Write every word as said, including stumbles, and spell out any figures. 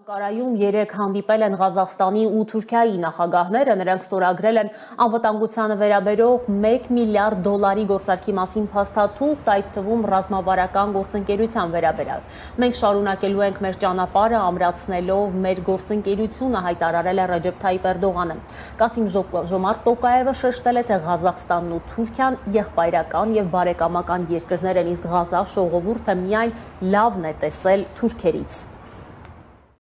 Անկարայում երեք հանդիպել են Ղազախստանի ու Թուրքիայի նախագահները, նրանք ստորագրել են անվտանգությանը վերաբերող մեկ միլիարդ դոլարի գործարքի մասին փաստաթուղթ, այդ թվում ռազմավարական գործընկերության վերաբերյալ։ Մենք շարունակելու ենք մեր ճանապարհը, ամրացնելով մեր գործընկերությունը, հայտարարել է Ռեջեփ Թայիփ Էրդողանը։ Կասիմ Ժոմարտ Տոկաևը շեշտել է, թե Ղազախստանն ու Թուրքիան եղբայրական եւ բարեկամական երկրներ են, իսկ Ղազախ ժողովուրդը միայն լավն է տեսել թուրքերից։